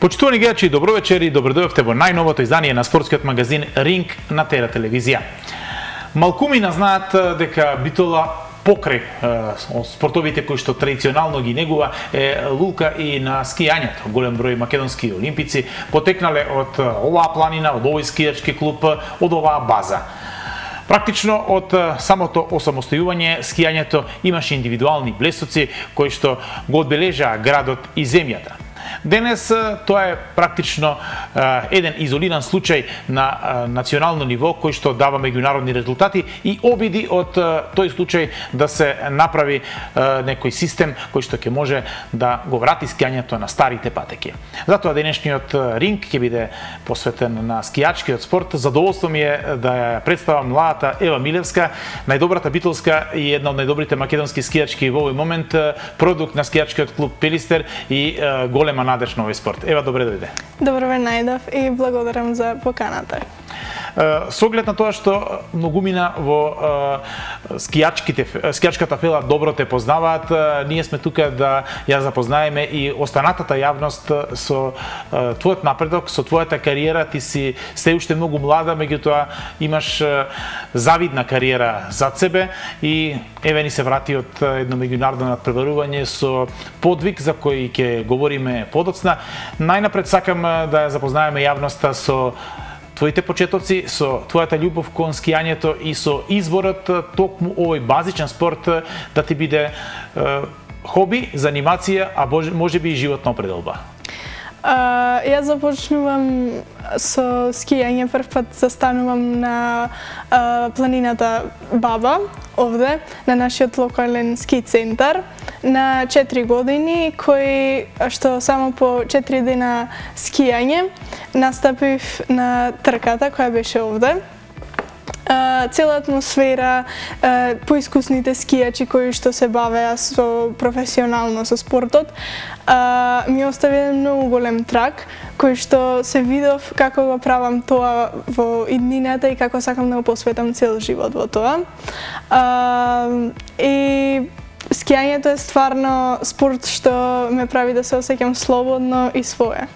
Почитувани гледачи, добро вечер и добро дојавте во најновото издание на спортскиот магазин Ринг на Тера телевизија. Малкумина знаат дека Битола покрај спортовите кои што традиционално ги негува е лулка и на скијањето. Голем број македонски олимпици потекнале од оваа планина, од овој скијачки клуб, од оваа база. Практично од самото осамостојување скијањето имаше индивидуални блесоци кои што го одбележаа градот и земјата. Денес тоа е практично еден изолиран случај на национално ниво кој што дава меѓународни резултати и обиди од тој случај да се направи некој систем кој што ќе може да го врати скијањето на старите патеки. Затоа денешниот ринг ќе биде посветен на скијачкиот спорт. Задоволство ми е да ја представам младата Ева Милевска, најдобрата битолска и една од најдобрите македонски скијачки во овој момент, продукт на скијачкиот клуб Пилистер и голема надеж на овој спорт. Ева, добре дојде. Добро ве најдов и благодарам за поканата. Со оглед на тоа што многумина во скијачката фела добро те познаваат, ние сме тука да ја запознаеме и останатата јавност со твојот напредок, со твојата кариера. Ти си се уште многу млада, меѓутоа имаш завидна кариера зад себе и еве ни се врати од едно меѓународно надпреварување со подвиг за кој ќе говориме подоцна. Најнапред сакам да ја запознаеме јавноста со твоите почетоци, со твојата љубов кон скијањето и со изборот токму овој базичен спорт да ти биде хоби, занимација, а можеби и животна определба. Јас започнувам со скијање, прв пат застанувам на планината Баба, овде, на нашиот локален ски центар, на 4 години, кој што само по 4 дена скијање настапив на трката која беше овде. Цела атмосфера, поискусните скијачи кои што се бавеа со професионално со спортот, ми остави еден многу голем трак, кој што се видов како го правам тоа во иднината и како сакам да го посветам цел живот во тоа. И скијањето е стварно спорт што ме прави да се осеќам слободно и свое.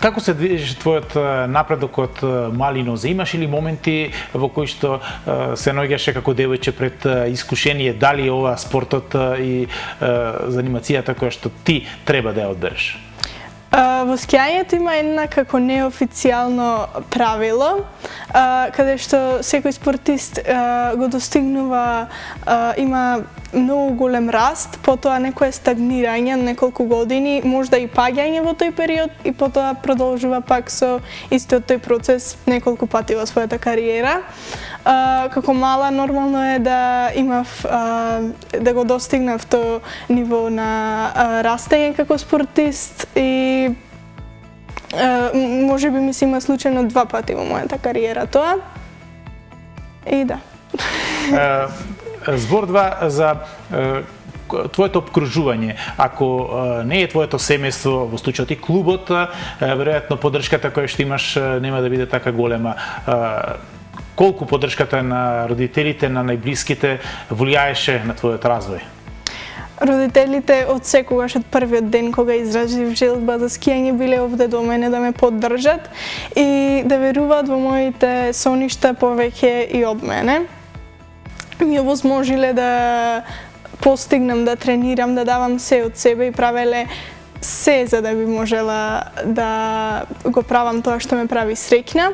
Како се движеше твојот напредок од мали нозе? Имаш ли моменти во кои што се наоѓаше како девојче пред искушение дали ова спортот и занимацијата која што ти треба да ја одбереш? Во скијањето има една како неофицијално правило, каде што секој спортист го достигнува, има многу голем раст, потоа некое стагнирање неколку години, можда и паѓање во тој период и потоа продолжува пак со истиот тој процес неколку пати во својата кариера. Како мала нормално е да имав да го достигнав тоа ниво на растење како спортист и можеби ми се има случајно 2 пати во мојата кариера тоа. И да. Збор 2 за твоето обкружување. Ако не е твоето семејство, во случајот и клубот, веројатно поддршката која што имаш нема да биде така голема. Колку поддршката на родителите, на најблиските влијаеше на твојот развој? Родителите од секогаш, од првиот ден кога изразив желба за скијање, биле овде до мене да ме поддржат и да веруваат во моите соништа повеќе и од мене. Ми овозможиле да постигнам, да тренирам, да давам се од себе и правеле се за да би можела да го правам тоа што ме прави среќна.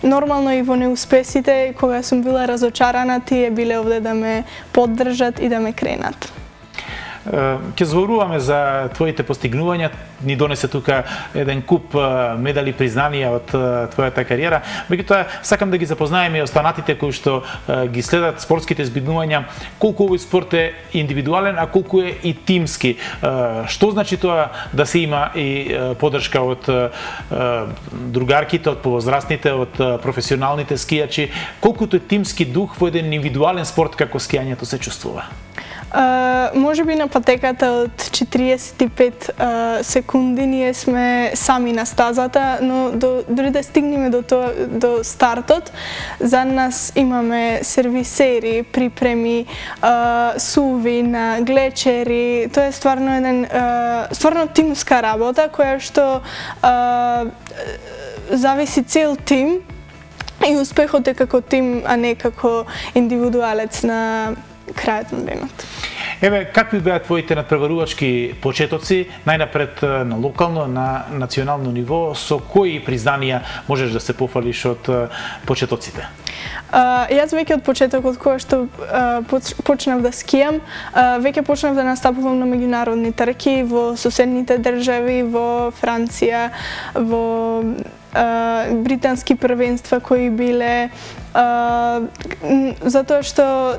Нормално и во неуспесите, кога сум била разочарана, тие биле овде да ме поддржат и да ме кренат. Ќе зборуваме за твоите постигнувања, ни донесе тука еден куп медали, признанија од твојата кариера. Меѓутоа, сакам да ги запознаеме и останатите кои што ги следат спортските збиднувања, колку овој спорт е индивидуален, а колку е и тимски. Што значи тоа да се има и поддршка од другарките, од повозрастните, од професионалните скијачи? Колкуто е тимски дух во еден индивидуален спорт како скијањето се чувствува? Може би на патеката од 45 секунди ние сме сами на стазата, но дори да стигнеме до стартот, за нас имаме сервисери, припреми, суви, глечери. Тоа е стварно тимска работа која што зависи цел тим и успехот е како тим, а не како индивидуалец на крајот на денот. Еве, какви беа твоите надпреварувачки почетоци, најнапред на локално, на национално ниво, со кои признанија можеш да се пофалиш од почетоците? Јас веќе од почетокот кога што почнав да скијам, веќе почнав да настапувам на меѓународни трки во соседните држави, во Франција, во британски првенства кои биле, затоа што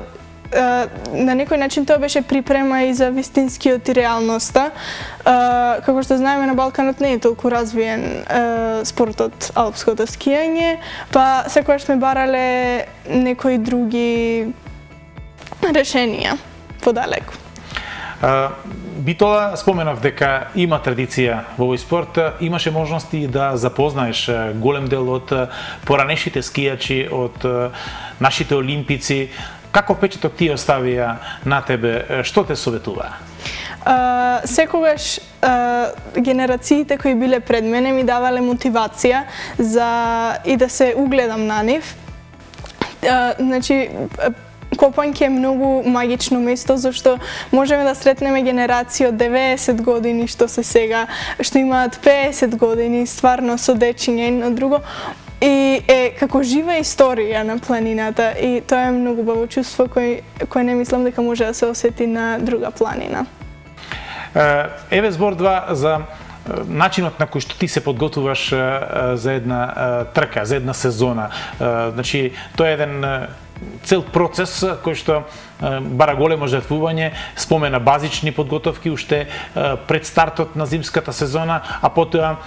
на некој начин тоа беше припрема и за вистинскиот и реалноста. Како што знаеме, на Балканот не е толку развиен спортот алпското скијање, па секогаш сме барале некои други решенија подалеку. Битола, споменав дека има традиција во овој спорт, имаше можности да запознаеш голем дел од поранешните скијачи, од нашите олимпици. Каков впечаток ти оставија на тебе? Што те советуваа? Секогаш генерациите кои биле пред мене ми давале мотивација за и да се угледам на нив. Значи, Копање е многу магично место, зашто можеме да сретнеме генерации од 90 години што се сега, што имаат 50 години, стварно со дечиња едно друго. И е како жива историја на планината и тоа е многу убаво чувство кој не мислам дека може да се осети на друга планина. Еве збор два за начинот на кој што ти се подготвуваш за една трка, за една сезона. Значи, тоа е еден цел процес кој што бара големо жртвување, спомена базични подготовки уште пред стартот на зимската сезона, а потоа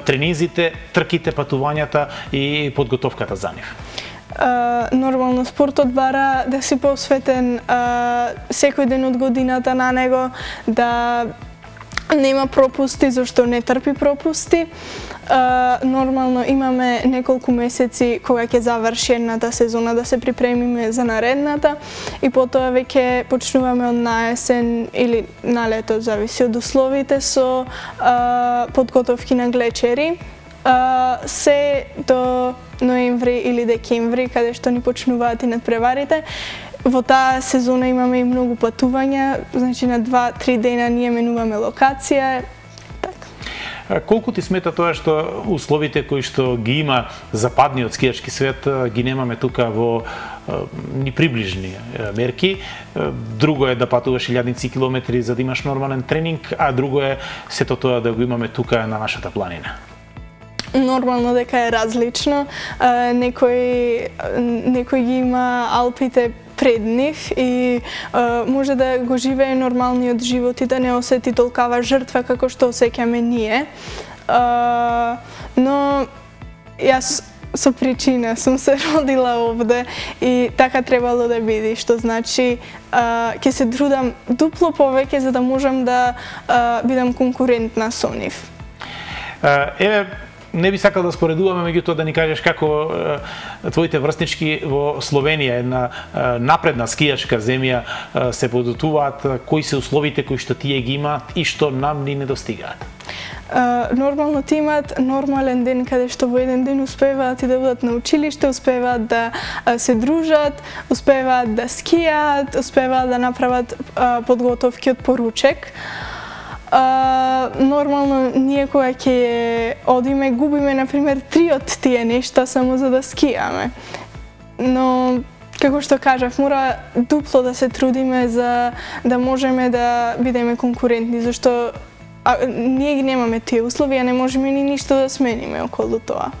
тренизите, трките, патувањата и подготовката за нив. Нормално спортот бара да си посветен секој ден од годината на него, да нема пропусти, зашто не трпи пропусти. Нормално имаме неколку месеци кога ќе заврши едната сезона да се припремиме за наредната и потоа веќе почнуваме од наесен или на лето, зависи од условите, со подготовки на глечери. Се до ноември или декември, каде што ни почнуваат и надпреварите. Во таа сезона имаме и многу патувања, значи на 2-3 дена ние менуваме локација. Колку ти смета тоа што условите кои што ги има западниот скијачки свет ги немаме тука во ни приближни мерки? Друго е да патуваш илјадници километри за да имаш нормален тренинг, а друго е сето тоа да го имаме тука на нашата планина. Нормално дека е различно. Некој ги има Алпите пред нив и може да го живее нормалниот живот и да не осети толкава жртва како што осеќаме ние. Но јас со причина сум се родила овде и така требало да биде, што значи ќе се трудам дупло повеќе за да можам да бидам конкурентна со нив. Еве, не би сакал да споредуваме, меѓутоа да ни кажеш како твоите врснички во Словенија, една напредна скијачка земја, се подготвуваат, кои се условите кои што тие ги имаат и што нам ни недостигаат? Нормално ти имаат нормален ден каде што во еден ден успеваат и да бидат на училиште, успеваат да се дружат, успеваат да скијаат, успеваат да направат подготовки од поручек. Нормално ние кога ќе одиме губиме например 3 од тие нешта само за да скијаме. Но како што кажав, мора дупло да се трудиме за да можеме да бидеме конкурентни, зашто ние ги немаме тие услови, а не можеме ни ништо да смениме околу тоа.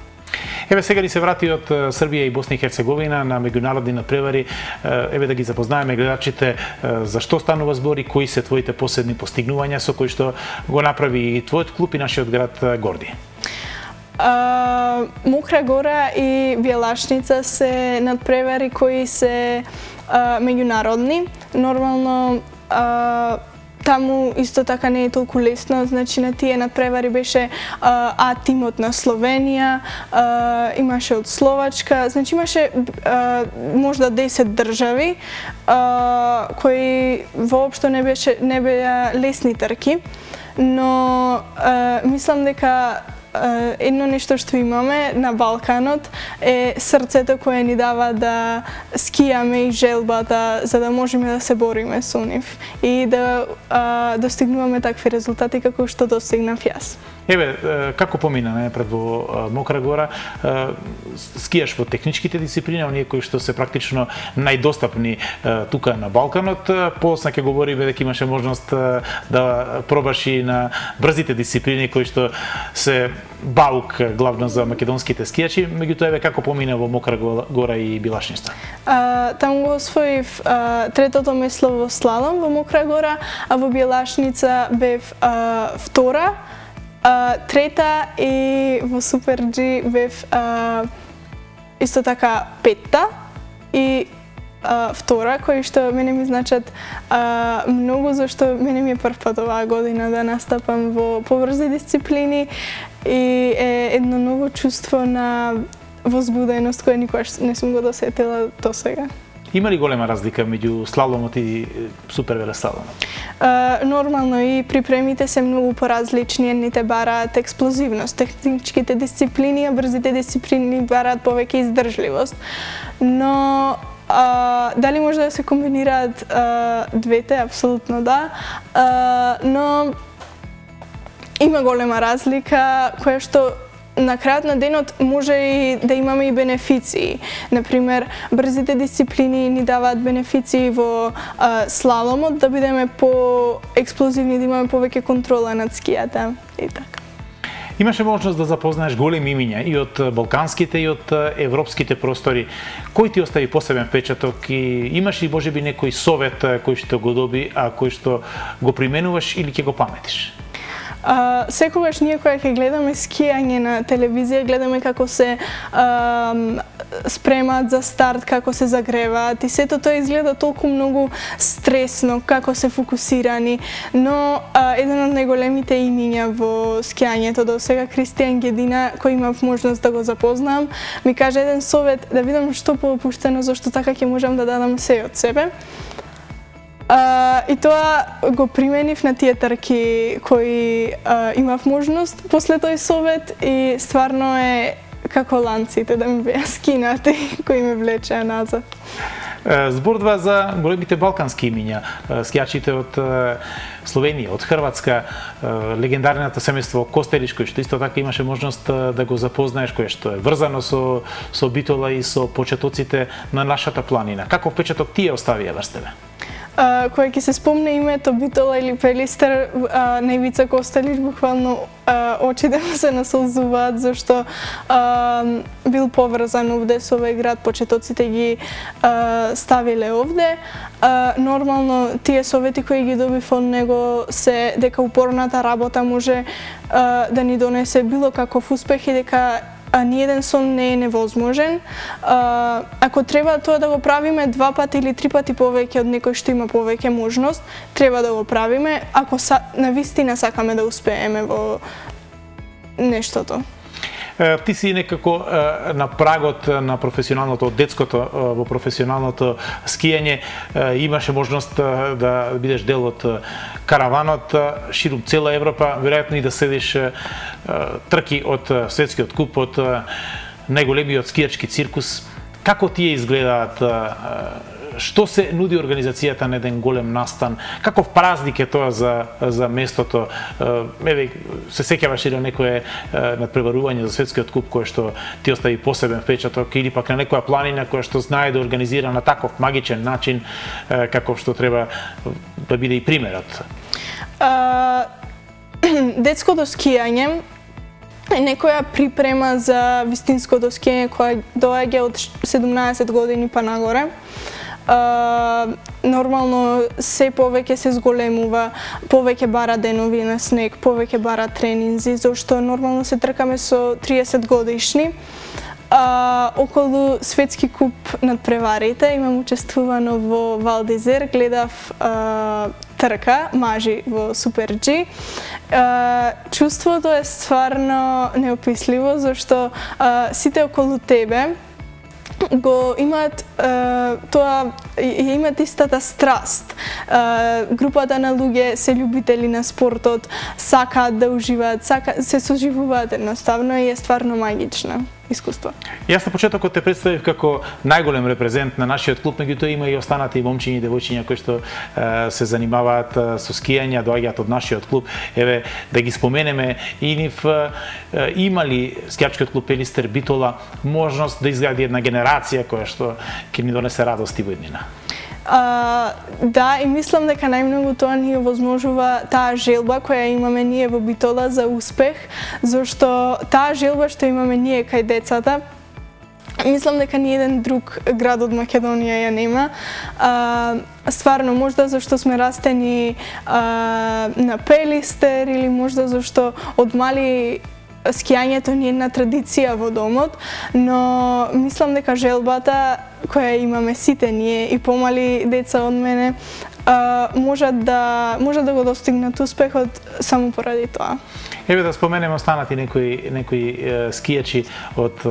Еве сега ни се врати од Србија и Босна и Херцеговина на меѓународни надпревари. Еве да ги запознаеме гледачите за што станува збор и кои се твоите последни постигнувања со кои што го направи и твојот клуб и нашиот град Горди. Мокра Гора и Бјелашница се надпревари кои се меѓународни. Нормално таму исто така не е толку лесно, значи на тие надпревари беше А тимот на Словенија, имаше од Словачка, значи имаше можда 10 држави кои воопшто не беа лесни трки, но мислам дека едно нешто што имаме на Балканот е срцето кое ни дава да скијаме и желбата за да можеме да се бориме со нив и да достигнуваме такви резултати како што достигнав јас. Еве, како помина најпред во Мокра Гора, скијаш во техничките дисциплини, оние кои што се практично најдостапни тука на Балканот. После ќе говориме дека имаше можност да пробаш и на брзите дисциплини кои што се баук главно за македонските скијачи. Меѓутоа, еве, како помина во Мокра Гора и Билашница? Таму го освоив третото место во слалом во Мокра Гора, а во Билашница бев втора, трета и во Супер G бев исто така петта и втора, кои што мене ми значат многу, зашто мене ми е прв пат оваа година да настапам во побрзи дисциплини и е едно ново чувство на возбуденост која никогаш не сум го досетила до сега. Има ли голема разлика меѓу слаломот и супервелеслаломот? Нормално и припремите се многу поразлични, едните бараат експлозивност, техничките дисциплини, а брзите дисциплини бараат повеќе издржливост. Но дали може да се комбинираат двете? Апсолутно да. Но има голема разлика која што на крајот на денот може и да имаме и бенефиции. Например, брзите дисциплини ни даваат бенефиции во слаломот, да бидеме по-експлозивни, да имаме повеќе контрола над скијата и така. Имаше можност да запознаеш големи имиња и од балканските и од европските простори. Кој ти остави посебен впечаток и имаш ли можеби некој совет кој што го доби, а кој што го применуваш или ќе го паметиш? Секогаш ние кога ќе гледаме скијање на телевизија, гледаме како се спремаат за старт, како се загреваат и сето тоа изгледа толку многу стресно, како се фокусирани, но еден од најголемите имиња во скијањето до сега, Кристијан Гедина, кој имав можност да го запознам, ми кажа еден совет да видам што поопуштено, зашто така ќе можам да дадам се од себе. И тоа го применив на тие трки кои имав можност после тој совет и стварно е како ланците да ми беа скинати кои ме влечеа назад. Зборува за големите балкански имиња, скијачите од Словенија, од Хрватска, легендарното семејство Костелиш, кој што исто така имаше можност да го запознаеш, кој што е врзано со Битола и со почетоците на нашата планина. Каков впечаток тие оставија врз тебе? Кога ќе се спомне името Битола или Пелистер, на Ивица Костелиш буквално очите му се насолзуваат, зашто бил поврзан овде со овој град, почетоците ги ставиле овде. Нормално тие совети кои ги добив од него се дека упорната работа може да ни донесе било каков успех и дека ниеден сон не е невозможен. Ако треба тоа да го правиме 2 пати или 3 пати повеќе од некој што има повеќе можност, треба да го правиме, ако навистина сакаме да успееме во нештото. Ти си некако на прагот на професионалното, од детското во професионалното скијање, имаше можност да бидеш дел од караванот ширум цела Европа, веројатно и да следиш трки од светскиот куп, од најголемиот скијачки циркус. Како тие изгледаат? Што се нуди организацијата на еден голем настан? Каков празник е тоа за местото? Еве, се сеќаваш и на некое надпреварување за светскиот куп кое што ти остави посебен впечаток или пак на некоја планина која што знае да организира на таков магичен начин каков што треба да биде и примерот? Детското скијање е некоја припрема за вистинското скијање која доаѓа од 17 години па нагоре. Нормално се повеќе се зголемува, повеќе бара денови на снег, повеќе бара тренинзи, зашто нормално се тркаме со 30 годишни. Околу светски куп надпреварите имам учествувано во Вал д'Изер, гледав трка, мажи во Супер G. Чувството е стварно неописливо, зашто сите околу тебе го имаат имаат истата страст. Групата на луѓе се љубители на спортот, сакаат да уживаат, се соживуваат едноставно и е стварно магично искуство. Јас на почетокот те представив како најголем репрезент на нашиот клуб, меѓутоа има и останати момчиња и девојчиња кои што се занимаваат со скијање, доаѓаат од нашиот клуб. Еве да ги споменеме и нив, има ли скијачкиот клуб Пелистер Битола можност да изгради една генерација која што ќе ни донесе радост и во иднина? Да, и мислам дека најмногу тоа ни овозможува таа желба која имаме ние во Битола за успех, зашто таа желба што имаме ние кај децата, мислам дека ни еден друг град од Македонија ја нема. Стварно, можда зашто сме растени на Пелистер или можда зашто од мали скијањето ни е една традиција во домот, но мислам дека желбата која имаме сите ние и помали деца од мене може да го достигнат успехот само поради тоа. Еве да споменеме останати некои скијачи од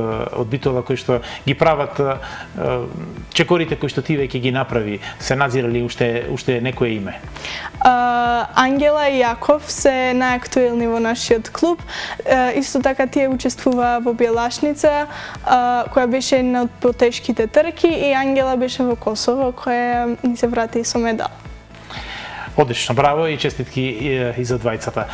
Битола кои што ги прават чекорите кои што ти веќе ги направи. Се надзирали уште некое име? Ангела и Јаков се најактуелни во нашиот клуб. Исто така тие учествуваа во Бјелашница, која беше една од потешките трки, и Ангела беше во Косово, која ни се врати со медал. Одлично, браво и честитки и за двајцата.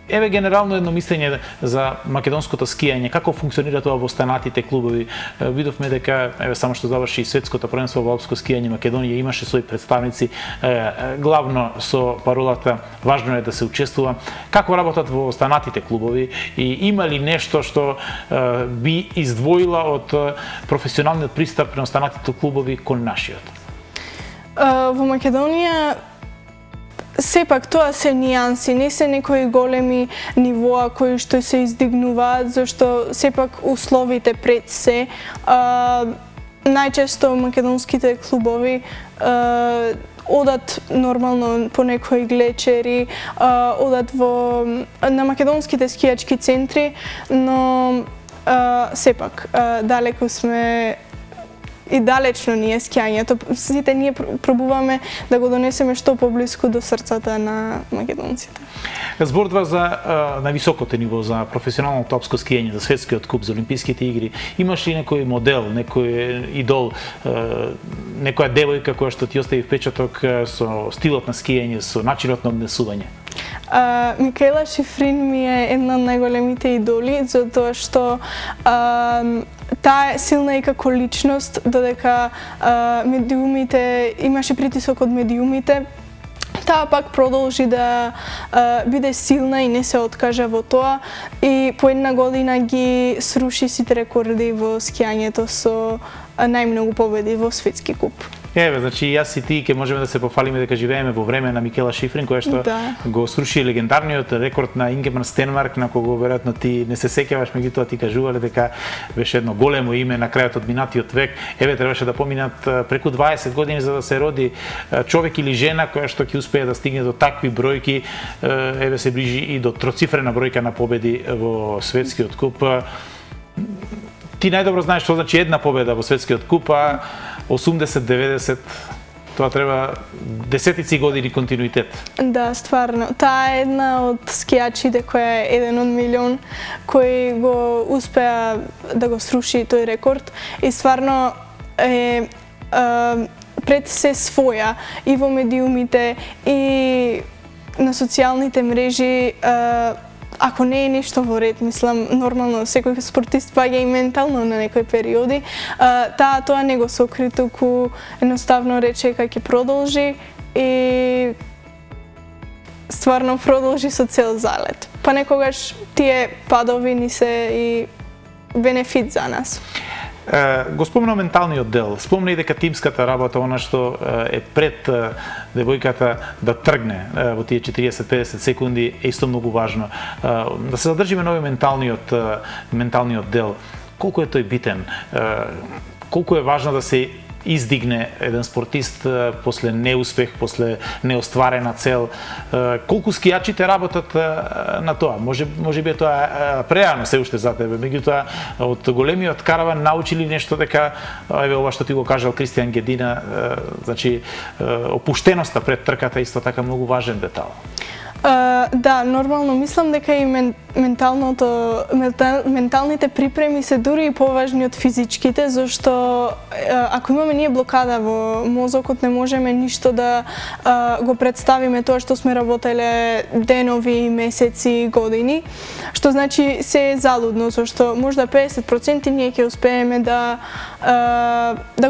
Еве генерално едно мислење за македонското скијање, како функционира тоа во останатите клубови. Видовме дека еве само што заврши и светското првенство во алпско скијање, Македонија имаше своји представници, главно со паролата важно е да се учествува. Како работат во останатите клубови и има ли нешто што би издвоила од професионалниот пристап на останатите клубови кон нашиот? Во Македонија сепак тоа се нијанси, не се некои големи нивоа кои што се издигнуваат, зашто сепак условите пред се. Најчесто македонските клубови одат нормално по некои глечери, одат на македонските скијачки центри, но сепак далеку сме и далечно ни е скијањето. Сите ние пробуваме да го донесеме што поблиску до срцата на македонците. Зборува за највисокото ниво, за професионалното алпско скијање, за светскиот куп, за олимписките игри. Имаш ли некој модел, некој идол, некоја девојка која што ти остави впечаток со стилот на скијање, со начинот на однесување? Микаела Шифрин ми е една од најголемите идоли, затоа што таа е силна и како личност, додека медиумите, имаше притисок од медиумите, таа пак продолжи да биде силна и не се откажа во тоа и по една година ги сруши сите рекорди во скијањето со најмногу победи во светски куп. Еве, значи јас и ти ќе можеме да се пофалиме дека живееме во време на Микела Шифрин, која што го сруши легендарниот рекорд на Ингемар Стенмарк, на кого веројатно ти не се сеќаваш, меѓутоа ти кажувале дека беше едно големо име на крајот од минатиот век. Еве, требаше да поминат преку 20 години за да се роди човек или жена која што ќе успее да стигне до такви бројки. Еве се ближи и до троцифрена бројка на победи во светскиот куп. Ти најдобро знаеш што значи една победа во светскиот куп, 80-90, тоа треба десетици години континуитет. Да, стварно. Таа е една од скијачите која е еден од милион, кој го успеа да го сруши тој рекорд и стварно е пред се своја и во медиумите и на социјалните мрежи. Ако не е нешто во ред, мислам, нормално секој спортист паѓа и ментално на некои периоди, тоа не го сокри, туку едноставно рече дека ќе продолжи и стварно продолжи со цел залет. Па некогаш тие падови ни се и бенефит за нас. Го спомна менталниот дел, спомна и дека тимската работа, она што е пред девојката да тргне во тие 40-50 секунди е исто многу важно. Да се задржиме на овој менталниот дел. Колку е тој битен? Колку е важно да се издигне еден спортист после неуспех, после неостварена цел. Колку скијачите работат на тоа? Може би тоа преано се уште за тебе, меѓутоа од големиот караван научили нешто дека еве ова што ти го кажал Кристијан Гедина, значи опуштеноста пред трката исто така многу важен детал. Да, нормално мислам дека и менталните припреми се дури и поважни од физичките, зашто ако имаме ние блокада во мозокот, не можеме ништо да го представиме тоа што сме работеле денови, месеци, години, што значи се е залудно, зашто можда 50% ние ќе успееме да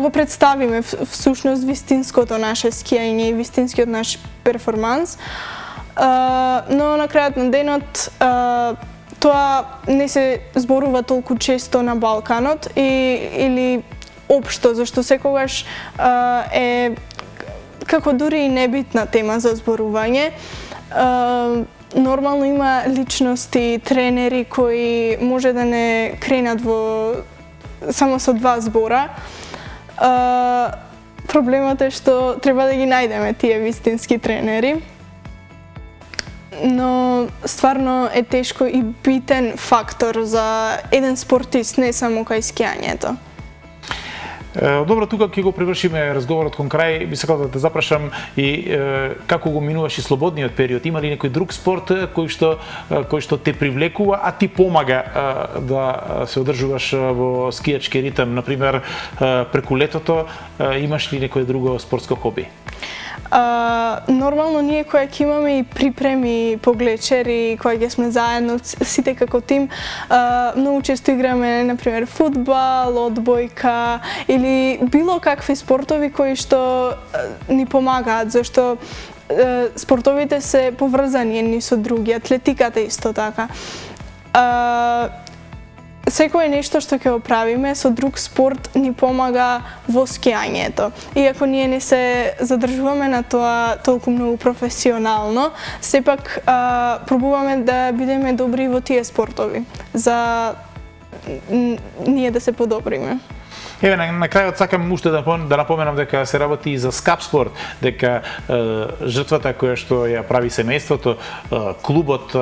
го представиме всушност вистинското наше скијање и вистинскиот наш перформанс. Но на крајот на денот тоа не се зборува толку често на Балканот или општо, зашто секогаш е како дури и небитна тема за зборување. Нормално има личности, тренери кои може да не кренат само со 2 збора. Проблемот е што треба да ги најдеме тие вистински тренери. Но стварно е тешко и битен фактор за еден спортист, не само кај скијањето. Добро, тука ќе го привршиме разговорот кон крај. Би сакал да те запрашам и како го минуваш и слободниот период. Има ли некој друг спорт кој што те привлекува, а ти помага да се одржуваш во скијачки ритм? Например, преку летото имаш ли некое друго спортско хоби? Нормално ние која ќе имаме и припреми по Глечер и која ќе сме заедно сите како тим, многу често играме например фудбал, одбојка или било какви спортови кои што ни помагаат, зашто спортовите се поврзани едни со други, атлетиката исто така. Секое нешто што ќе го правиме со друг спорт ни помага во скијањето. Иако ние не се задржуваме на тоа толку многу професионално, сепак пробуваме да бидеме добри во тие спортови, за ние да се подобриме. Еве, на крајот сакам уште да напоменам дека се работи и за скап спорт, дека жртвата која што ја прави семејството, клубот,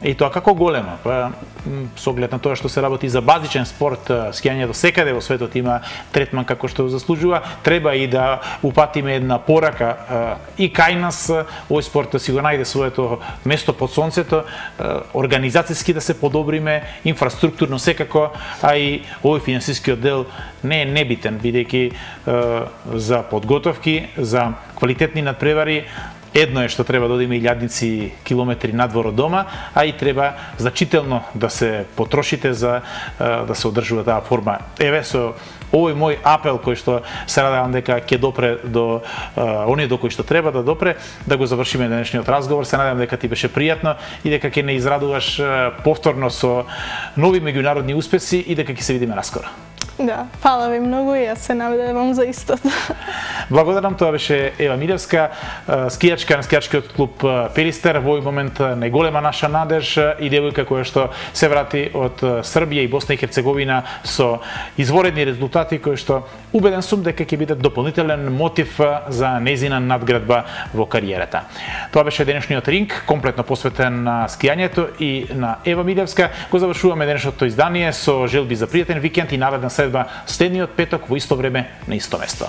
и тоа како голема, со оглед на тоа што се работи за базичен спорт, скијањето секаде во светот има третман како што заслужува, треба и да упатиме една порака и кај нас овој спорт да си го најде своето место под сонцето, организацијски да се подобриме, инфраструктурно секако, а и овој финансискиот дел не е небитен, бидејќи за подготовки, за квалитетни надпревари, едно е што треба да одиме илјадници километри надвор од дома, а и треба значително да се потрошите за да се одржува таа форма. Еве, со овој мој апел кој што се надевам дека ќе допре до оние до кои што треба да допре, да го завршиме денешниот разговор. Се надевам дека ти беше пријатно и дека ќе не израдуваш повторно со нови меѓународни успеси и дека ќе се видиме наскоро. Да, фала ви многу и јас се надевам за истото. Благодарам, тоа беше Ева Милевска, скијачка на скијачкиот клуб Пелистер, во овој момент најголема наша надеж и девојка која што се врати од Србија и Босна и Херцеговина со изворедни резултати кои што убеден сум дека ќе бидат дополнителен мотив за нејзина надградба во кариерата. Тоа беше денешниот ринг, комплетно посветен на скијањето и на Ева Милевска. Го завршуваме денешното издание со желби за пријатен викенд и наредна следба следниот петок во исто време на исто место.